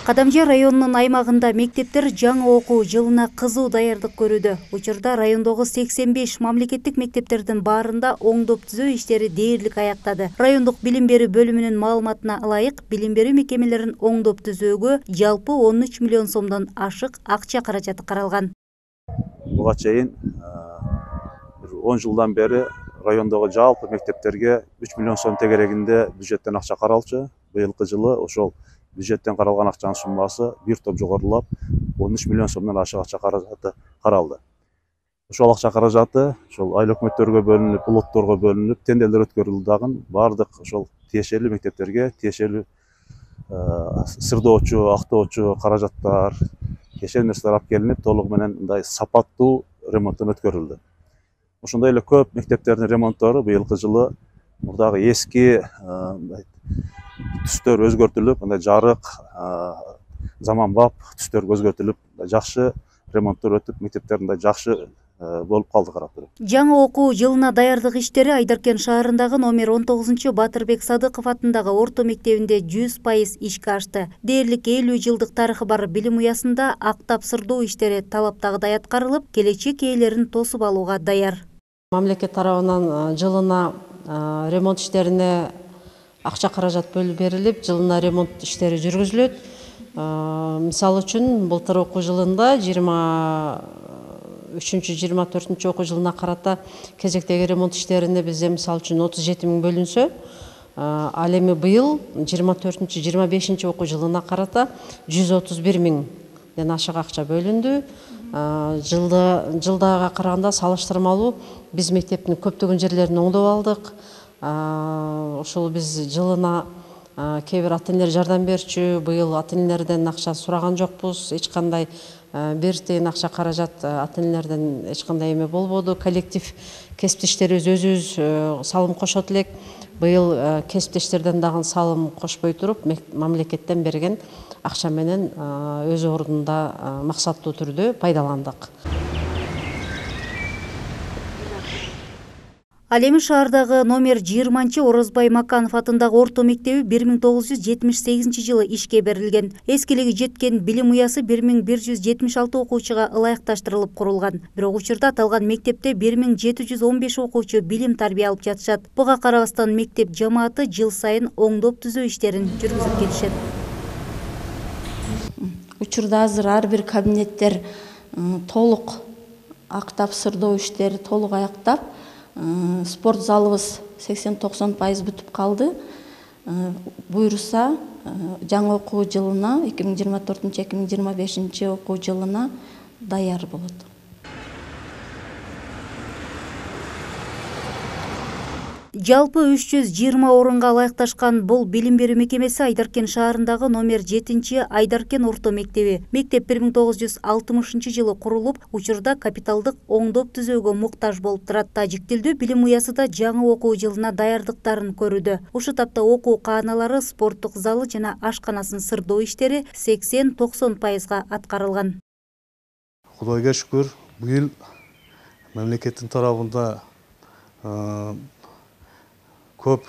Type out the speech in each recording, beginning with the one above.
Кадамжай районунун аймагында мектептер жаңы окуу жылына кызуу даярдык көрүүдө. Учурда райондогу 85 мамлекеттик мектептердин баарында оңдоп түзөө иштери дээрлик аяктады. Райондук билим берүү бөлүмүнүн маалыматына ылайык, билим берүү мекемелерин оңдоп түзөөгө жалпы 13 миллион сомдон ашык акча каражаты каралган. Буга чейин 10 жылдан бери райондогу жалпы мектептерге 3 миллион сом тегерегинде бюджеттен акча каралчу. Быйылкы жылы ошол бюджеттен каралган акчанын суммасы бир топ жогорулап 13 миллион сомдон ашык акча каражаты каралды. Ошол акча каражаты ошол айыл өкмөттөргө бөлүнүп, улутторго бөлүнүп, тендерлер өткөрүлдү дагы. Бардык ошол тиешелүү мектептерге тиешелүү сырдоочу, актоочу каражаттар, тиешелүү нерселер алып келинип, толугу менен мындай сапаттуу ремонттон өткөрүлдү. Ошондой эле көп мектептердин ремонттору быйылкы жылы мурдагы эски түстөр өзгөртүлүп, мындай жарык, заманбап түстөргө өзгөртүлүп, жакшы ремонттор өтүп, мектептер мындай жакшы болуп калды карап туруп. Жаңы окуу жылына даярдык иштери Айдаркен шаарындагы номер 19 Батырбек Садыков атындагы орто мектебинде 100% ишке ашты. Дээрлик 50 жылдык тарыхы бар билим уясында актап сырдоо иштери талаптагыдай аткарылып, келечек ээлерин тосуп алууга даяр. Мамлекет тарабынан жылына ремонт иштерине акча каражат бөлүп берилип, жылына ремонт иштери жүргүзүлөт. Мисалы үчүн, былтыр окуу жылында 23-24 окуу жылына карата кезектеги ремонт иштерине бизде мисалы үчүн 37 миң бөлүнсө, ал эми быйыл 24-25 окуу жылына карата 131 миңден ашык акча бөлүндү. Жылдага караганда салыштырмалуу биз мектептин көптөгөн жерлерин оңдоп алдык. Ошол биз жылына кээ бир ата-энелер жардам берчү, быйыл ата-энелерден акча сураган жокпуз. Эч кандай бир тыйын акча каражат ата-энелерден эч кандай эме болбоду. Коллектив кесиптештерибиз өзүбүз салым кошот элек. Быйыл кесиптештерден дагы салым кошпой туруп, мамлекеттен берген акча менен өз ордунда максаттуу түрдө пайдаландык. Ал эми шаардагы номер 20 Орозбай Маканов атындагы орто мектеби 1978 жылы ишке берилген. Эскилиги жеткен билим уясы 1176 окуучуга ылайыкташтырылып курулган. Бирок учурда аталган мектепте 1715 окуучу билим тарбия алып жатышат. Буга карабастан мектеп жамааты жыл сайын оңдоп түзөө иштерин жүргүзүп келишет. Учурда азыр ар бир кабинеттер толук актап сырдоо иштери толук аяктап, спорт залыбыз 80-90% бүтүп калды. Буйруса жаңы окуу жылына 2024-2025 окуу жылына даяр болот. Жалпы 320 орунга ылайыкташкан бул билим берүү мекемеси Айдаркен шаарындагы номер 7 Айдаркен орто мектеби. Мектеп 1960 жылы курулуп, учурда капиталдык оңдоп түзөөгө муктаж болуп турат. Тажик тилдүү билим уясы да жаңы окуу жылына даярдыктарын көрүүдө. Ушул тапта окуу кааналары, спорттук залы жана ашканасын сырдоо иштери 80-90%га аткарылган. Кудайга шүкүр, быйыл мамлекеттин тарабында көп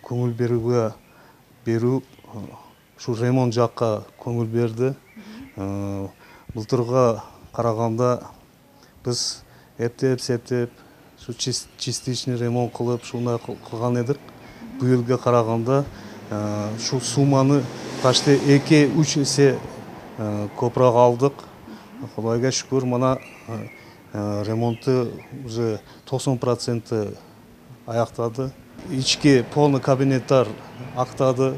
көңүл берүү ушу ремонт жакка көңүл берди. Былтырга караганда биз эптеп, ушу частичный ремонт кылып, ушундай кылган эдик. Быйылга караганда ушул сумманы почти 2-3 эсе көбүрөөк алдык. Кудайга шүкүр, мына ремонту уже 90% аяктады. Ички полный кабинеттер актады,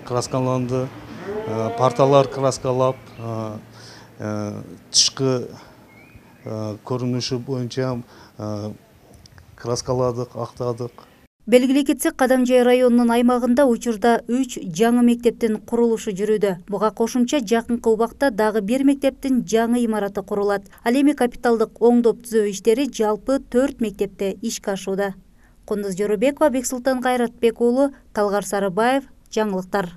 краскаланды, парталар краскалап, тышкы көрүнүшү боюнча краскаладык, актадык. Белгилей кетсек, Кадамжай районунун аймагында учурда 3 жаңы мектептин курулушу жүрүүдө. Буга кошумча жакынкы убакта дагы бир мектептин жаңы имараты курулат. Ал эми капиталдык оңдоп түзөө иштери жалпы 4 мектепте ишке ашууда. Кундуз Жорубекова, Бексултан Кайратбек уулу, Талгар Сарыбаев, жаңылыктар.